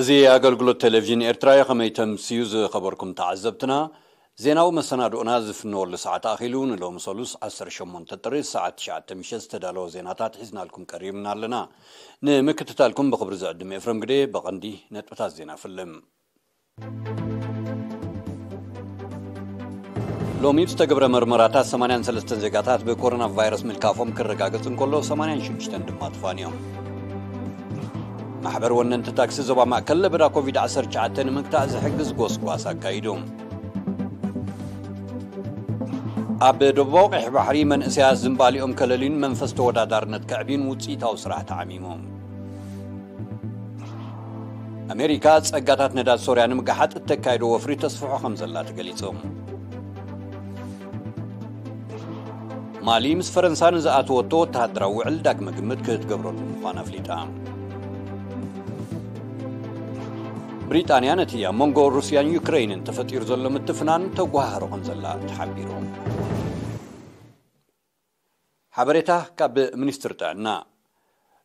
እዚ ኣገልግሎት ቴሌቪዥን ኤርትራ እዩ። ከመይ ተምስዩ ዝኸበርኩም ተዓዘብትና፣ ዜናዊ መሰናድኦና ዝፍነወሉ ሰዓት ኣኺሉ። ንሎሚ ሰሉስ ዓሰርተ ሸሞንተ ጥሪ ሰዓት ትሽዓተ ምሸት ዝተዳለወ ዜናታት ሒዝናልኩም ቀሪብና ኣለና። ንምክትታልኩም ብኽብሪ ዝዕድም ኤፍረም ግዴ። ብቐንዲ ነጥብታት ዜና ፍልም። ሎሚ ብዝተገብረ መርመራታት ሰማንያን ሰለስተን ዜጋታት ብኮሮና ቫይረስ ምልካፎም ክረጋገጽ እንከሎ፣ ሰማንያን ሽዱሽተን ድማ ተፋንዮም። ማሕበር ወነንቲ ታክሲ ዞባ ማእከል ለበዳ ኮቪድ ዓሰርተ ትሽዓተ ንምግታእ ዝሕግዝ ጎስጓስ ኣካይዱ። ኣብ ደቡባዊ ቀይሕ ባሕሪ መንእሰያት ዝንባሊኦም ከለልዩን መንፈስ ተወዳዳርነት ከዕብዩን ውጽኢታዊ ስራሕ ተዓሚሙ። ኣሜሪካ ጸጋታት ነዳድ ሶርያ ንምግሓጥ እተካይዶ ወፍሪ ተስፍሖ ከም ዘላ ተገሊጹ። ማሊ ምስ ፈረንሳ ንዝኣተወቶ ወተሃደራዊ ውዕል ዳግመ ግምት ክትገብረሉ ምዃና ኣፍሊጣ። ብሪጣንያ ነቲ ኣብ መንጎ ሩስያን ዩክረይንን ተፈጢሩ ዘሎ ምትፍናን ተጓሃህሮ ከም ዘላ ተሓቢሩ። ሓበሬታ ካብ ሚኒስትሪ ጥዕና።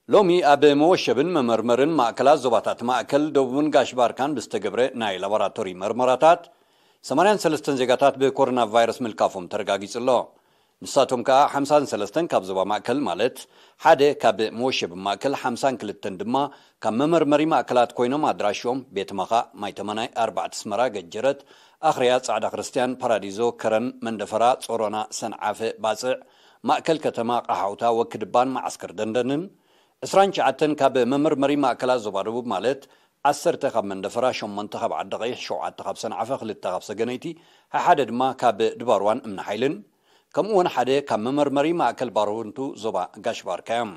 ሎሚ ኣብ መወሸብን መመርመርን ማእከላት ዞባታት ማእከል ደቡብን ጋሽ ባርካን ብዝተገብረ ናይ ላቦራቶሪ መርመራታት ሰማንያን ሰለስተን ዜጋታት ብኮሮና ቫይረስ ምልካፎም ተረጋጊጹ ኣሎ። ንሳቶም ከኣ ሓምሳን ሰለስተን ካብ ዞባ ማእከል፣ ማለት ሓደ ካብ መወሸቢ ማእከል፣ ሓምሳን ክልተን ድማ ካብ መመርመሪ ማእከላት ኮይኖም፣ ኣድራሾም ቤት መኻእ፣ ማይ ተመናይ፣ ኣርባዕተ ኣስመራ፣ ገጀረት፣ ኣኽርያ፣ ጻዕዳ ክርስትያን፣ ፓራዲዞ፣ ከረን፣ መንደፈራ፣ ጾሮና፣ ሰንዓፈ፣ ባጽዕ፣ ማእከል ከተማ፣ ቃሓውታ፣ ወክድባን መዓስከር ደንደንን፣ ዕስራን ትሽዓተን ካብ መመርመሪ ማእከላት ዞባ ደቡብ፣ ማለት ዓሰርተ ካብ መንደፈራ፣ ሸሞንተ ካብ ዓዲ ቀይሕ፣ ሸውዓተ ካብ ሰንዓፈ፣ ክልተ ካብ ሰገነይቲ፣ ሓደ ድማ ካብ ድባርዋን እምኒ ሓይልን፣ ከምኡ እውን ሓደ ካብ መመርመሪ ማእከል ባረንቱ ዞባ ጋሽ ባርካ እዮም።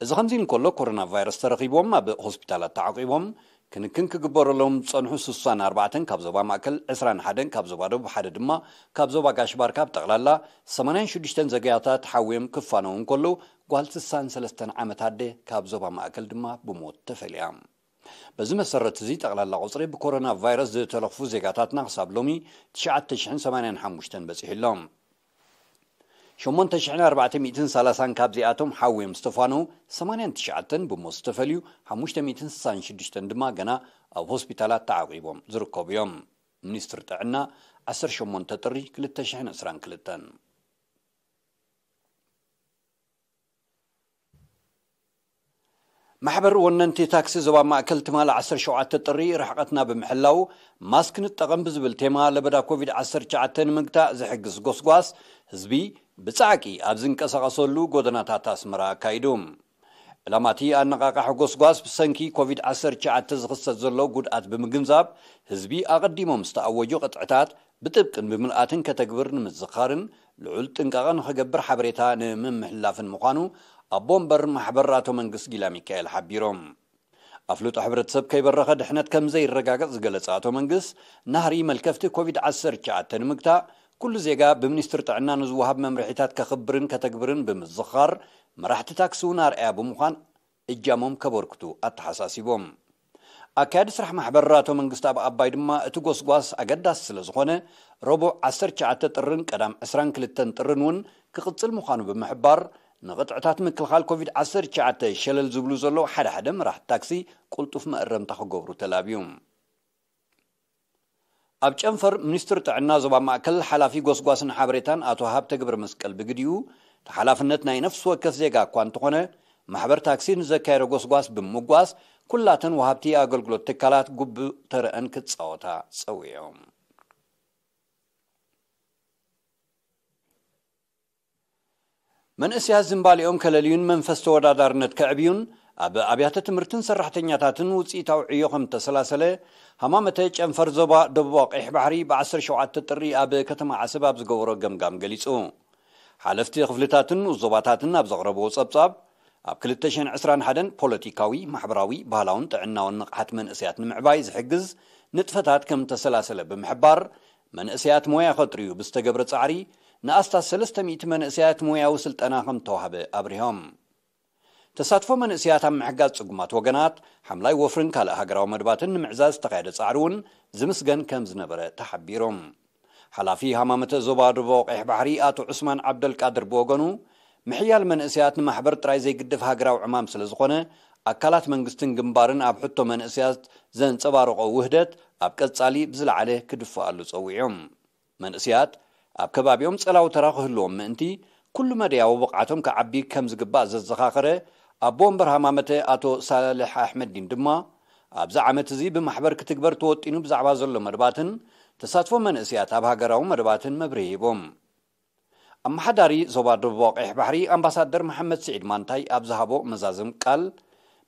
እዚ ከምዚ እንከሎ፣ ኮሮና ቫይረስ ተረኺቦም ኣብ ሆስፒታላት ተዓቂቦም ክንክን ክግበረሎም ዝጸንሑ ስሳን ኣርባዕተን ካብ ዞባ ማእከል፣ ዕስራን ሓደን ካብ ዞባ ደቡብ፣ ሓደ ድማ ካብ ዞባ ጋሽ ባርካ፣ ብጠቕላላ ሰማንያን ሽዱሽተን ዜጋታት ሓውዮም ክፋነዉ እንከለዉ፣ ጓል ስሳን ሰለስተን ዓመት ኣደ ካብ ዞባ ማእከል ድማ ብሞት ተፈልያ። በዚ መሰረት እዚ፣ ጠቕላላ ቁጽሪ ብኮሮና ቫይረስ ዝተለኽፉ ዜጋታትና ክሳብ ሎሚ ትሽዓተ ሽሕን ሰማንያን ሓሙሽተን በጺሑ ኣሎ። ሸሞንተ ሽሕን ኣርባዕተ ሚእትን ሰላሳን ካብዚኣቶም ሓውዮም ዝተፋነዉ፣ ሰማንያን ትሽዓተን ብሞት ዝተፈልዩ፣ ሓሙሽተ ሚእትን ስሳን ሽዱሽተን ድማ ገና ኣብ ሆስፒታላት ተዓቂቦም ዝርከቡ እዮም። ሚኒስትሪ ጥዕና፣ ዓሰርተ ሸሞንተ ጥሪ ክልተ ሽሕን ዕስራን ክልተን። ማሕበር ወነንቲ ታክሲ ዞባ ማእከል ትማሊ ዓሰርተ ሸውዓተ ጥሪ ርሕቐትና ብምሕላው ማስክ ንጠቐም ብዝብል ቴማ ለበዳ ኮቪድ ዓሰርተ ትሽዓተ ንምግታእ ዝሕግዝ ጎስጓስ ህዝቢ ብጻዕቂ ኣብ ዝንቀሳቐሰሉ ጎደናታት ኣስመራ ኣካይዱ። ዕላማ እቲ ኣነቓቓሒ ጎስጓስ ብሰንኪ ኮቪድ ዓሰርተ ትሽዓተ ዝኽሰት ዘሎ ጉድኣት ብምግንዛብ ህዝቢ ኣቐዲሞም ዝተኣወጁ ቅጥዕታት ብጥብቅን ብምልኣትን ከተግብር ንምዝኻርን ልዑል ጥንቃቐ ንኸገብር ሓበሬታ ንምምሕልላፍን ምዃኑ ኣቦ ወንበር ማሕበር ኣቶ መንግስ ጊላ ሚካኤል ሓቢሮም። ኣፍልጦ ሕብረተሰብ ከይበረኸ ድሕነት ከም ዘይረጋገጽ ዝገለጸ ኣቶ መንግስ፣ ናህሪ መልከፍቲ ኮቪድ ዓሰርተ ትሽዓተ ንምግታእ ኩሉ ዜጋ ብሚኒስትሪ ጥዕና ንዝወሃብ መምርሒታት ከኽብርን ከተግብርን ብምዝኻር፣ መራሕቲ ታክሲ እውን ኣርኣያ ብምዃን እጃሞም ከበርክቱ ኣተሓሳሲቦም። ኣካያዲ ስራሕ ማሕበር ኣቶ መንግስቲ ኣብ ኣባይ ድማ እቲ ጎስጓስ ኣገዳሲ ስለ ዝኾነ፣ ረቡዕ ዓሰርተ ትሽዓተ ጥርን ቀዳም ዕስራን ክልተን ጥርን እውን ክቕጽል ምዃኑ ብምሕባር፣ ንቕጥዕታት ምክልኻል ኮቪድ ዓሰርተ ትሽዓተ ሸለል ዝብሉ ዘለዉ ሓደ ሓደ መራሕቲ ታክሲ ቅልጡፍ መእረምታ ክገብሩ ተላብዩ። ኣብ ጨንፈር ሚኒስትሪ ጥዕና ዞባ ማእከል ሓላፊ ጎስጓስን ሓበሬታን ኣቶ ሃብተ ገብረ መስቀል ብግዲኡ፣ ተሓላፍነት ናይ ነፍሲ ወከፍ ዜጋ እኳ እንተኾነ፣ ማሕበር ታክሲ ንዘካየዶ ጎስጓስ ብምጓስ ኩላተን ወሃብቲ ኣገልግሎት ትካላት ግቡእ ተረአን ክጻወታ ጸዊዖም። መንእሰያት ዝንባሊኦም ከለልዩን መንፈስ ተወዳዳርነት ከዕብዩን ኣብ ኣብያተ ትምህርትን ሰራሕተኛታትን ውጽኢታዊ ዕዮ ከም ተሰላሰለ ሃማመተ ጨንፈር ዞባ ደቡባዊ ቀይሕ ባሕሪ ብ ዓሰርተ ሸውዓተ ጥሪ ኣብ ከተማ ዓሰብ ኣብ ዝገበሮ ገምጋም ገሊጹ። ሓለፍቲ ክፍልታትን ንኡስ ዞባታትን ኣብ ዘቕረብዎ ጸብጻብ፣ ኣብ ክልተ ሽሕን ዕስራን ሓደን ፖለቲካዊ፣ ማሕበራዊ፣ ባህላውን ጥዕናውን ንቕሓት መንእሰያት ንምዕባይ ዝሕግዝ ንጥፈታት ከም ተሰላሰለ ብምሕባር፣ መንእሰያት ሞያ ከጥርዩ ብዝተገብረ ጻዕሪ ንኣስታት ሰለስተ ሚእቲ መንእሰያት ሞያዊ ስልጠና ከም ተዋህበ ኣብሪሆም። ተሳትፎ መንእሰያት ኣብ ምሕጋዝ ጽጉማት ወገናት፣ ሓምላይ ወፍርን ካልእ ሃገራዊ መድባትን ንምዕዛዝ ዝተኻየደ ጻዕሪ እውን ዝምስገን ከም ዝነበረ ተሓቢሩ። ሓላፊ ሃማመተ ዞባ ደቡብ ቀይሕ ባሕሪ ኣቶ ዑስማን ዓብደልቃድር ብወገኑ፣ ምሕያል መንእሰያት ንማሕበር ጥራይ ዘይግድፍ ሃገራዊ ዕማም ስለ ዝኾነ፣ ኣካላት መንግስትን ግንባርን ኣብ ሕቶ መንእሰያት ዘንጸባረቖ ውህደት ኣብ ቀጻሊ ብዝለዓለ ክድፍኣሉ ጸዊዖም። መንእስያት ኣብ ከባቢኦም ጸላዊ ተራ ክህልዎም ምእንቲ፣ ኩሉ መደያዊ ብቕዓቶም ክዓቢ ከም ዝግባእ ዘዘኻኸረ ኣቦ ወንበር ሃማመተ ኣቶ ሳልሕ ኣሕመዲን ድማ፣ ኣብዚ ዓመት እዚ ብማሕበር ክትግበር ተወጢኑ ብዛዕባ ዘሎ መደባትን ተሳትፎ መንእስያት ኣብ ሃገራዊ መደባትን መብርሂ ሂቦም። ኣመሓዳሪ ዞባ ደቡብ ቀይሕ ባሕሪ ኣምባሳደር መሓመድ ስዒድ ማንታይ ኣብ ዝሃቦ መዛዘም ቃል፣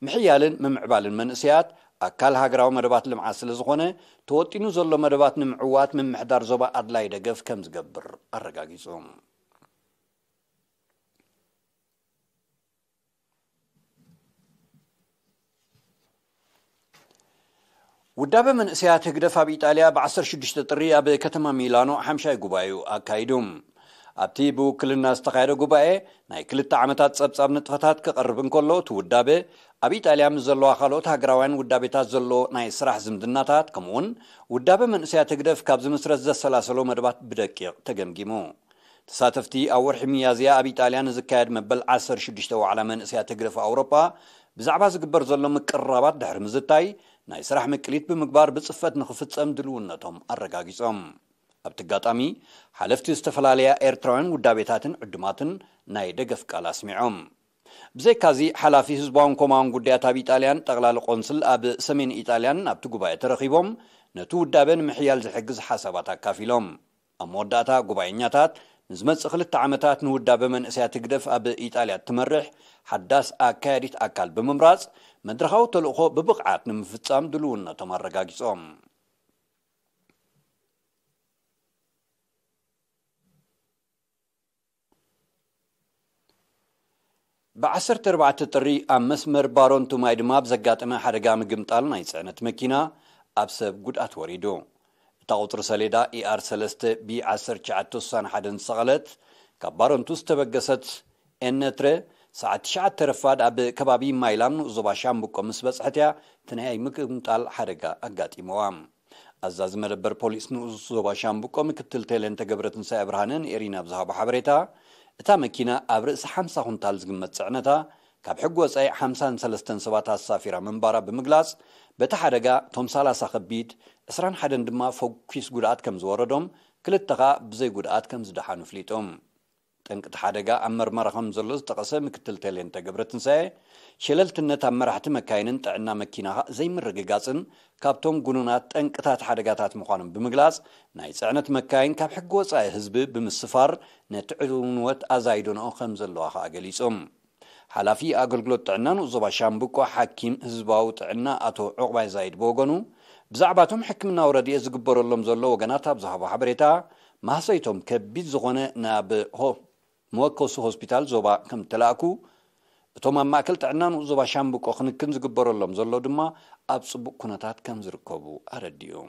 ምሕያልን ምምዕባልን መንእስያት ኣካል ሃገራዊ መደባት ልምዓት ስለ ዝኾነ፣ ተወጢኑ ዘሎ መደባት ንምዕዋት ምምሕዳር ዞባ ኣድላይ ደገፍ ከም ዝገብር ኣረጋጊጹ። ውዳበ መንእሰያት ህግደፍ ኣብ ኢጣልያ ብ ዓሰርተ ሽዱሽተ ጥሪ ኣብ ከተማ ሚላኖ ሓምሻይ ጉባኤኡ ኣካይዱ። ኣብቲ ብውክልና ዝተኻየደ ጉባኤ፣ ናይ ክልተ ዓመታት ጸብጻብ ንጥፈታት ክቐርብ እንከሎ፣ እቲ ውዳበ ኣብ ኢጣልያ ምስ ዘለዋ ካልኦት ሃገራውያን ውዳቤታት ዘሎ ናይ ስራሕ ዝምድናታት፣ ከምኡውን ውዳበ መንእሰያት ህግደፍ ካብ ዝምስረት ዘሰላሰሎ መደባት ብደቂቕ ተገምጊሙ። ተሳተፍቲ ኣብ ወርሒ ሚያዝያ ኣብ ኢጣልያ ንዝካየድ መበል ዓሰርተ ሽዱሽተ ዋዕላ መንእሰያት ህግደፍ ኣውሮጳ ብዛዕባ ዝግበር ዘሎ ምቅርራባት ድሕሪ ምዝታይ፣ ናይ ስራሕ ምቅሊት ብምግባር ብጽፈት ንኽፍጸም ድልውነቶም ኣረጋጊጾም። ኣብቲ ኣጋጣሚ፣ ሓለፍቲ ዝተፈላለያ ኤርትራውያን ውዳቤታትን ዕዱማትን ናይ ደገፍ ቃል ኣስሚዖም። ብዘይካዚ፣ ሓላፊ ህዝባውን ኮማውን ጉዳያት ኣብ ኢጣልያን ጠቕላሊ ቆንስል ኣብ ሰሜን ኢጣልያን ኣብቲ ጉባኤ ተረኺቦም፣ ነቲ ውዳበ ንምሕያል ዝሕግዝ ሓሳባት ኣካፊሎም። ኣብ መወዳእታ፣ ጉባኤኛታት ንዝመጽእ ክልተ ዓመታት ንውዳበ መንእሰያት ህግደፍ ኣብ ኢጣልያ እትመርሕ ሓዳስ ኣካያዲት ኣካል ብምምራጽ፣ መድረኻዊ ተልእኾ ብብቕዓት ንምፍጻም ድልውነቶም ኣረጋጊጾም። ብ ዓሰርተ ኣርባዕተ ጥሪ ኣብ መስመር ባሮንቱ ማይ ድማ ብዘጋጠመ ሓደጋ ምግምጣል ናይ ጽዕነት መኪና ኣብ ሰብ ጉድኣት ወሪዱ። እታ ቁጽሪ ሰሌዳ ኢኣር ሰለስተ ቢ ዓሰርተ ትሽዓተ ስሳን ሓደን ዝሰቐለት ካብ ባሮንቱ ዝተበገሰት ኤነትረ ሰዓት ትሽዓተ ረፋድ ኣብ ከባቢ ማይላም ንኡስ ዞባ ሻምብቆ ምስ በጽሐት እያ እቲ ናይ ምግምጣል ሓደጋ ኣጋጢምዋ። ኣዛዚ መደበር ፖሊስ ንኡስ ዞባ ሻምብቆ ምክትል ቴሌንተ ገብረትንሳኤ ብርሃነ ንኤሪና ኣብ ዝሃቦ ሓበሬታ፣ እታ መኪና ኣብ ርእሲ ሓምሳ ኩንታል ዝግመት ጽዕነታ፣ ካብ ሕጊ ወጻኢ ሓምሳን ሰለስተን ሰባት ኣሳፊራ ምንባራ ብምግላጽ፣ በቲ ሓደጋ እቶም ሰላሳ ከቢድ፣ ዕስራን ሓደን ድማ ፈኲስ ጉድኣት ከም ዝወረዶም፣ ክልተ ኸኣ ብዘይ ጉድኣት ከም ዝደሓኑ ኣፍሊጡ። ጠንቂ እቲ ሓደጋ ኣብ መርመራ ከም ዘሎ ዝጠቐሰ ምክትል ቴሌንተ ገብረትንሳኤ፣ ሸለልትነት ኣብ መራሕቲ መካይንን ጥዕና መኪና ዘይምርግጋጽን ካብቶም ጉኑናት ጠንቅታት ሓደጋታት ምዃኖም ብምግላጽ፣ ናይ ጽዕነት መካይን ካብ ሕጊ ወጻኢ ህዝቢ ብምስፋር ነቲ ዕንወት ኣዛይዶንኦ ከም ዘለዋ ከኣ ገሊጹ። ሓላፊ ኣገልግሎት ጥዕና ንኡስ ዞባ ሻምብቆ ሓኪም ህዝባዊ ጥዕና ኣቶ ዑቕባይ ዛይድ ብወገኑ፣ ብዛዕባ እቶም ሕክምናዊ ረድኤት ዝግበረሎም ዘሎ ወገናት ኣብ ዝሃቦ ሓበሬታ፣ ማህሰይቶም ከቢድ ዝኾነ ናብ ሆ-፣ መወከሲ ሆስፒታል ዞባ ከም እተላእኩ፣ እቶም ኣብ ማእከል ጥዕና ንኡስ ዞባ ሻምብቆ ክንክን ዝግበረሎም ዘሎ ድማ ኣብ ጽቡቕ ኩነታት ከም ዝርከቡ ኣረዲኡ።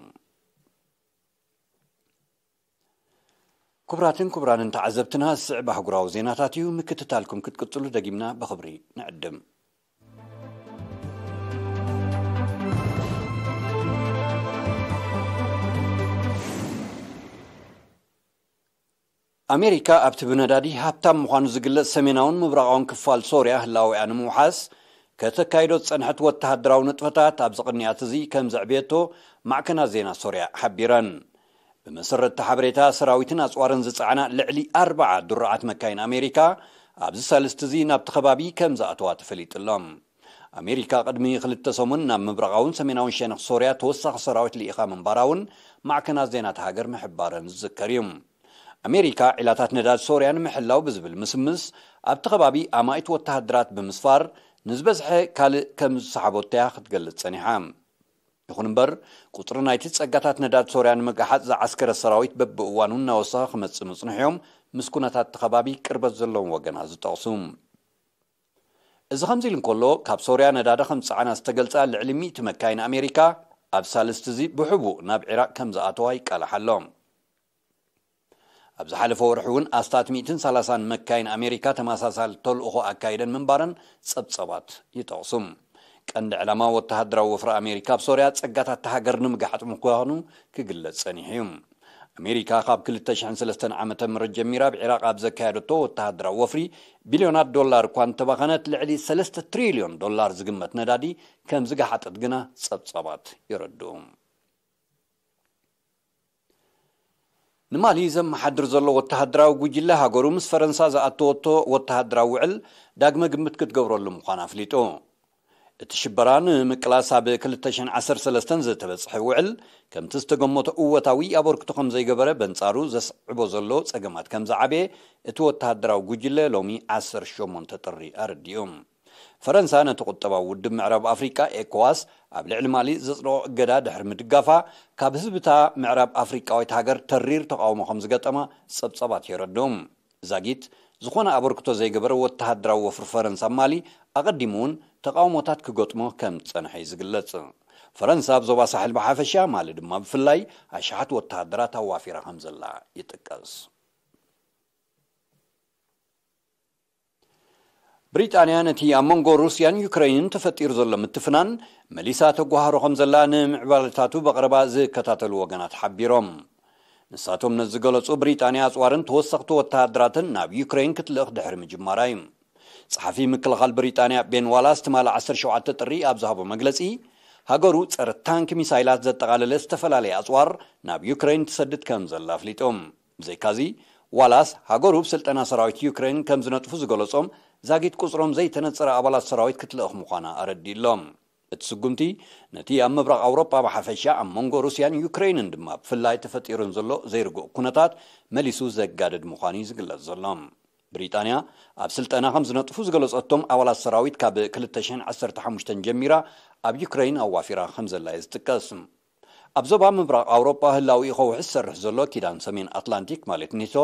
ክቡራትን ክቡራንን ተዓዘብትና፣ ዝስዕብ ኣህጉራዊ ዜናታት እዩ። ምክትታልኩም ክትቅጽሉ ደጊምና ብኽብሪ ንዕድም። ኣሜሪካ ኣብቲ ብነዳዲ ሃብታም ምዃኑ ዝግለጽ ሰሜናውን ምብራቓውን ክፋል ሶርያ ህላዌኣ ንምውሓስ ከተካይዶ ዝጸንሐት ወተሃደራዊ ንጥፈታት ኣብዚ ቅንያት እዚ ከም ዘዕብየቶ ማዕከናት ዜና ሶርያ ሓቢረን። ብመሰረት እቲ ሓበሬታ፣ ሰራዊትን ኣጽዋርን ዝጸዓና ልዕሊ ኣርብዓ ድሩዓት መካይን ኣሜሪካ ኣብዚ ሳልስቲ እዚ ናብቲ ከባቢ ከም ዝኣተዋ ተፈሊጡ ኣሎ። ኣሜሪካ ቅድሚ ክልተ ሰሙን ናብ ምብራቓውን ሰሜናውን ሸነኽ ሶርያ ተወሳኺ ሰራዊት ልኢኻ ምንባራ እውን ማዕከናት ዜና እታ ሃገር ምሕባረን ዝዝከር እዩ። ኣሜሪካ ዒላታት ነዳድ ሶርያ ንምሕላው ብዝብል ምስምስ ኣብቲ ከባቢ ኣማኢት ወተሃደራት ብምስፋር ንዝበዝሐ ካልእ ከም ዝሰሓቦቶ እያ ክትገልጽ ጸኒሓ። ይኹን እምበር፣ ቁጽሪ ናይቲ ጸጋታት ነዳድ ሶርያ ንምግሓጽ ዝዓስከረ ሰራዊት በብእዋኑ እናወሰኸ ክመጽእ ምጽንሑ እዮም ምስ ኩነታት እቲ ከባቢ ቅርበት ዘለዎም ወገናት ዝጠቕሱ። እዚ ከምዚ ኢሉ እንከሎ፣ ካብ ሶርያ ነዳዲ ከም ዝጸዓና ዝተገልጻ ልዕሊ ሚእቲ መካይን ኣሜሪካ ኣብ ሳልስቲ እዚ ብሕቡእ ናብ ዒራቕ ከም ዝኣተዋ ይቃላሕ ኣሎ። ኣብ ዝሓለፈ ወርሒ እውን ኣስታት ሚእትን ሰላሳን መካይን ኣሜሪካ ተመሳሳሊ ተልእኾ ኣካይደን ምንባረን ጸብጸባት ይጠቕሱ። ቀንዲ ዕላማ ወተሃደራዊ ወፍሪ ኣሜሪካ ኣብ ሶርያ ጸጋታት እታ ሃገር ንምግሓጥ ምዃኑ ክግለጽ ጸኒሑ እዩ። ኣሜሪካ ካብ ክልተ ሽሕን ሰለስተን ዓመተ ምህረት ጀሚራ ኣብ ዒራቕ ኣብ ዘካየደቶ ወተሃደራዊ ወፍሪ ቢልዮናት ዶላር እኳ እንተባኸነት፣ ልዕሊ ሰለስተ ትሪልዮን ዶላር ዝግመት ነዳዲ ከም ዝገሓጠት ግና ጸብጻባት የረድኡ። ንማሊ ዘመሓድር ዘሎ ወተሃደራዊ ጉጅለ፣ ሃገሩ ምስ ፈረንሳ ዝኣተወቶ ወተሃደራዊ ውዕል ዳግመ ግምት ክትገብረሉ ምዃና ኣፍሊጡ። እቲ ሽበራ ንምቅላስ ኣብ ክልተ ሽሕን ዓሰርተ ሰለስተን ዝተበጽሐ ውዕል፣ ከምቲ ዝተገመቶ እወታዊ ኣበርክቶ ከም ዘይገበረ፣ በንጻሩ ዘስዕቦ ዘሎ ጸገማት ከም ዝዓበየ እቲ ወተሃደራዊ ጉጅለ ሎሚ ዓሰርተ ሸሞንተ ጥሪ ኣረዲኡ። ፈረንሳ ነቲ ቁጠባዊ ውድብ ምዕራብ ኣፍሪቃ ኤኮዋስ ኣብ ልዕሊ ማሊ ዘጽደቖ እገዳ ድሕሪ ምድጋፋ፣ ካብ ህዝብታ ምዕራብ ኣፍሪቃዊት ሃገር ተሪር ተቓውሞ ከም ዝገጠማ ጸብጻባት የረድኡ። ዛጊት ዝኾነ ኣበርክቶ ዘይገበረ ወተሃደራዊ ወፍሪ ፈረንሳ ኣብ ማሊ ኣቐዲሙ እውን ተቓውሞታት ክገጥሞ ከም ዝጸንሐ እዩ ዝግለጽ። ፈረንሳ ኣብ ዞባ ሳሕል ብሓፈሻ፣ ማሊ ድማ ብፍላይ፣ ኣሽሓት ወተሃደራት ኣዋፊራ ከም ዘላ ይጥቀስ። ብሪጣንያ ነቲ ኣብ መንጎ ሩስያን ዩክረይንን ተፈጢሩ ዘሎ ምትፍናን መሊሳ ተጓሃሮ ከም ዘላ ንምዕባለታቱ ብቐረባ ዝከታተሉ ወገናት ሓቢሮም። ንሳቶም ነዚ ዝገለጹ፣ ብሪጣንያ ኣጽዋርን ተወሰኽቲ ወተሃደራትን ናብ ዩክረይን ክትልእኽ ድሕሪ ምጅማራ እዩ። ጸሓፊ ምክልኻል ብሪጣንያ ቤን ዋላስ ትማሊ ዓሰርተ ሸውዓተ ጥሪ ኣብ ዝሃቦ መግለጺ፣ ሃገሩ ጸረ ታንክ ሚሳይላት ዘጠቓለለ ዝተፈላለየ ኣጽዋር ናብ ዩክረይን ትሰድድ ከም ዘላ ኣፍሊጡ። ብዘይካዚ፣ ዋላስ ሃገሩ ብስልጠና ሰራዊት ዩክሬን ከም ዝነጥፉ ዝገለጾም ዛጊት ቁጽሮም ዘይተነጸረ ኣባላት ሰራዊት ክትልእኽ ምዃና ኣረዲእሎም። እቲ ስጉምቲ ነቲ ኣብ ምብራቕ ኣውሮጳ ብሓፈሻ፣ ኣብ መንጎ ሩስያን ዩክሬንን ድማ ብፍላይ ተፈጢሩን ዘሎ ዘይርጉእ ኩነታት መሊሱ ዘጋድድ ምዃኑ እዩ ዝግለጽ ዘሎ። ብሪጣንያ ኣብ ስልጠና ከም ዝነጥፉ ዝገለጸቶም ኣባላት ሰራዊት ካብ ክልተ ሽሕን ዓሰርተ ሓሙሽተን ጀሚራ ኣብ ዩክሬን ኣዋፊራ ከም ዘላ እዩ ዝጥቀስ። ኣብ ዞባ ምብራቕ ኣውሮጳ ህላዊ ከውሒ ዝሰርሕ ዘሎ ኪዳን ሰሜን ኣትላንቲክ ማለት ኔቶ፣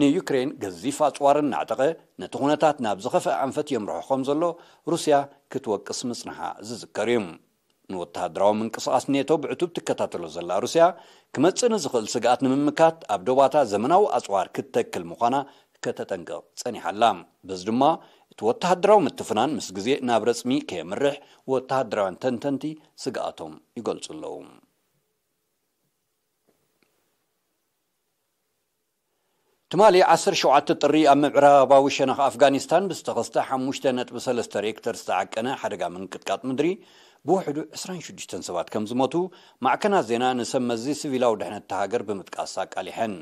ንዩክሬን ገዚፍ ኣጽዋር እናዕጠቐ ነቲ ኩነታት ናብ ዝኸፍአ ኣንፈት የምርሖ ከም ዘሎ ሩስያ ክትወቅስ ምጽንሓ ዝዝከር እዩ። ንወተሃደራዊ ምንቅስቓስ ኔቶ ብዕቱብ ትከታተሎ ዘላ ሩስያ፣ ክመጽእ ንዝኽእል ስግኣት ንምምካት ኣብ ዶባታ ዘመናዊ ኣጽዋር ክትተክል ምዃና ከተጠንቅቕ ጸኒሓ ኣላ። በዚ ድማ እቲ ወተሃደራዊ ምትፍናን ምስ ግዜ ናብ ረጽሚ ከየምርሕ ወተሃደራውያን ተንተንቲ ስግኣቶም ይገልጹ ኣለዉ። ትማሊ ዓሰርተ ሸውዓተ ጥሪ ኣብ ምዕራባዊ ሸነኽ ኣፍጋኒስታን ብዝተኸስተ ሓሙሽተ ነጥቢ ሰለስተ ሬክተር ዝተዓቀነ ሓደጋ ምንቅጥቃጥ ምድሪ ብውሕዱ ዕስራን ሽዱሽተን ሰባት ከም ዝሞቱ ማዕከናት ዜና ንሰብ መዚ ሲቪላዊ ድሕነት እታ ሃገር ብምጥቃስ ኣቃሊሐን።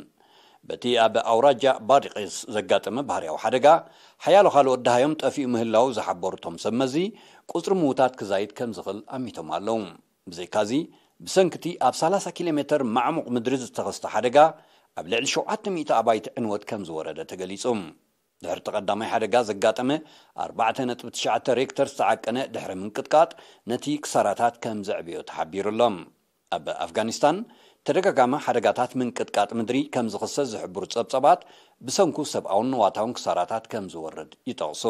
በቲ ኣብ ኣውራጃ ባዲቂስ ዘጋጠመ ባህርያዊ ሓደጋ፣ ሓያሎ ካልኦት ደሃዮም ጠፊኡ ምህላው ዝሓበሩ እቶም ሰብ መዚ፣ ቁጽሪ ምዉታት ክዛይድ ከም ዝኽእል ኣሚቶም ኣለዉ። ብዘይካዚ፣ ብሰንኪ እቲ ኣብ ሰላሳ ኪሎ ሜተር ማዕሙቕ ምድሪ ዝተኸስተ ሓደጋ፣ ኣብ ልዕሊ ሸውዓተ ሚእቲ ኣባይቲ ዕንወት ከም ዝወረደ ተገሊጹ። ድሕሪ እቲ ቀዳማይ ሓደጋ ዘጋጠመ ኣርባዕተ ነጥቢ ትሽዓተ ሬክተር ዝተዓቀነ ድሕሪ ምንቅጥቃጥ፣ ነቲ ክሳራታት ከም ዘዕበዮ ተሓቢሩ ኣሎ። ኣብ ኣፍጋኒስታን ተደጋጋሚ ሓደጋታት ምንቅጥቃጥ ምድሪ ከም ዝኽሰት ዝሕብሩ ጸብጻባት፣ ብሰንኩ ሰብኣውን ንዋታውን ክሳራታት ከም ዝወርድ ይጠቕሱ።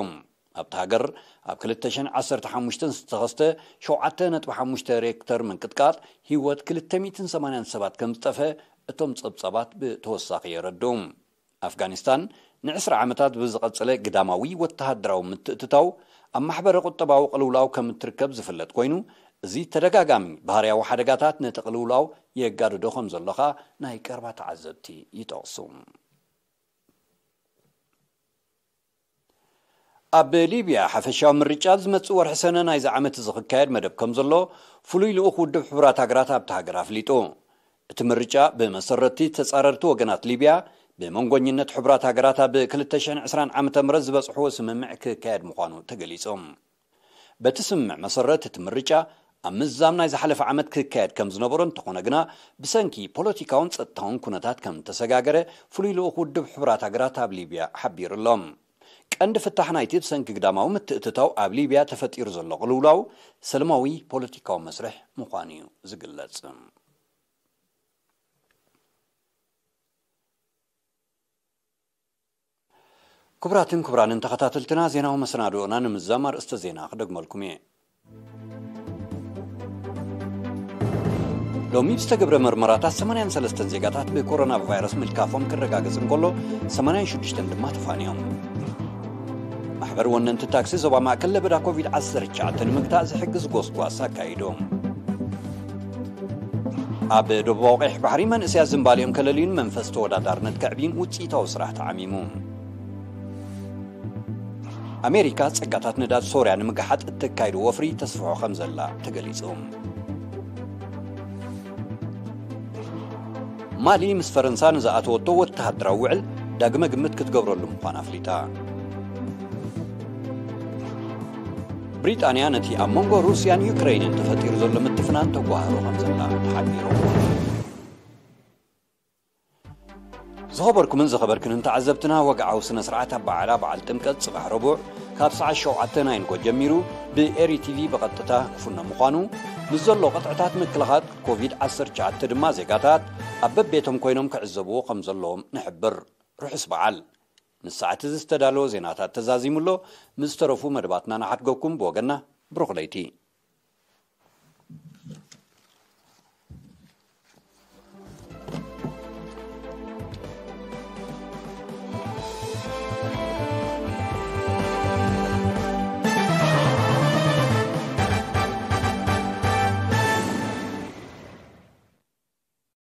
ኣብታ ሃገር ኣብ ክልተ ሽሕን ዓሰርተ ሓሙሽተን ዝተኸስተ ሸውዓተ ነጥቢ ሓሙሽተ ሬክተር ምንቅጥቃጥ ህይወት ክልተ ሚእትን ሰማንያን ሰባት ከም ዝጠፍአ እቶም ጸብጻባት ብተወሳኺ የረድኡ። ኣፍጋኒስታን ንዕስራ ዓመታት ብዝቐጸለ ግዳማዊ ወተሃደራዊ ምትእትታው ኣብ ማሕበረ ቁጠባዊ ቅልውላው ከም እትርከብ ዝፍለጥ ኮይኑ፣ እዚ ተደጋጋሚ ባህርያዊ ሓደጋታት ነቲ ቅልውላው የጋድዶ ከም ዘሎ ኸኣ ናይ ቀረባ ተዓዘብቲ ይጠቕሱ። ኣብ ሊብያ ሓፈሻዊ ምርጫ ዝመጽእ ወርሒ ሰነ ናይዚ ዓመት እዚ ክካየድ መደብ ከም ዘሎ ፍሉይ ልኡኽ ውድብ ሕቡራት ሃገራት ኣብታ ሃገር ኣፍሊጡ። እቲ ምርጫ ብመሰረትቲ ተጻረርቲ ወገናት ሊብያ ብመንጎኝነት ሕቡራት ሃገራት ኣብ ክልተ ሽሕን ዕስራን ዓመተ ምህረት ዝበጽሕዎ ስምምዕ ክካየድ ምዃኑ ተገሊጹ። በቲ ስምምዕ መሰረት እቲ ምርጫ ኣብ ምዛም ናይ ዝሓለፈ ዓመት ክካየድ ከም ዝነበሮ እንተኾነ ግና ብሰንኪ ፖለቲካውን ጸጥታውን ኩነታት ከም እተሰጋገረ ፍሉይ ልኡኽ ውድብ ሕቡራት ሃገራት ኣብ ሊብያ ሓቢሩ ኣሎ። ቀንዲ ፍታሕ ናይቲ ብሰንኪ ግዳማዊ ምትእትታው ኣብ ሊብያ ተፈጢሩ ዘሎ ቅልውላው ሰለማዊ ፖለቲካዊ መስርሕ ምዃኑ እዩ ዝግለጽ። ክቡራትን ክቡራንን ተኸታተልትና፣ ዜናዊ መሰናድኦና ንምዛም ኣርእስተ ዜና ክደግመልኩም እየ። ሎሚ ብዝተገብረ መርመራታት ሰማንያን ሰለስተን ዜጋታት ብኮሮና ቫይረስ ምልካፎም ክረጋገጽ እንከሎ፣ ሰማንያን ሽዱሽተን ድማ ተፋንዮም። ማሕበር ወነንቲ ታክሲ ዞባ ማእከል ለበዳ ኮቪድ ዓሰርተ ትሽዓተ ንምግታእ ዝሕግዝ ጎስጓስ ኣካይዱ። ኣብ ደቡባዊ ቀይሕ ባሕሪ መንእሰያት ዝንባሊኦም ከለልዩን መንፈስ ተወዳዳርነት ከዕብዩን ውጽኢታዊ ስራሕ ተዓሚሙ። ኣሜሪካ ጸጋታት ነዳድ ሶርያ ንምግሓጥ እተካይዶ ወፍሪ ተስፍሖ ከም ዘላ ተገሊጹ። ማሊ ምስ ፈረንሳ ንዝኣተወቶ ወተሃደራዊ ውዕል ዳግመ ግምት ክትገብረሉ ምዃና ኣፍሊጣ። ብሪጣንያ ነቲ ኣብ መንጎ ሩስያን ዩክረይንን ተፈጢሩ ዘሎ ምትፍናን ተጓሃሮ ከም ዘላ ተሓቢሩ። ዝኸበርኩምን ዝኸበርክንን ተዓዘብትና፣ ወግዓዊ ስነ ስርዓት ኣበዓዕላ በዓል ጥምቀት ጽባሕ ረቡዕ ካብ ሰዓት ሸውዓተ ናይ ንጎ ጀሚሩ ብኤሪ ቲቪ ብቐጥታ ክፍኖ ምዃኑ፣ ምስ ዘሎ ቅጥዕታት ምክልኻል ኮቪድ ዓሰርተ ትሽዓተ ድማ ዜጋታት ኣብ በቤቶም ኮይኖም ክዕዘብዎ ከም ዘለዎም ንሕብር። ርሑስ በዓል። ንሰዓት እዚ ዝተዳለወ ዜናታት ተዛዚሙ ኣሎ። ምስ ዝተረፉ መደባትና ንሓድገኩም። ብወገንና ብሩኽ ለይቲ።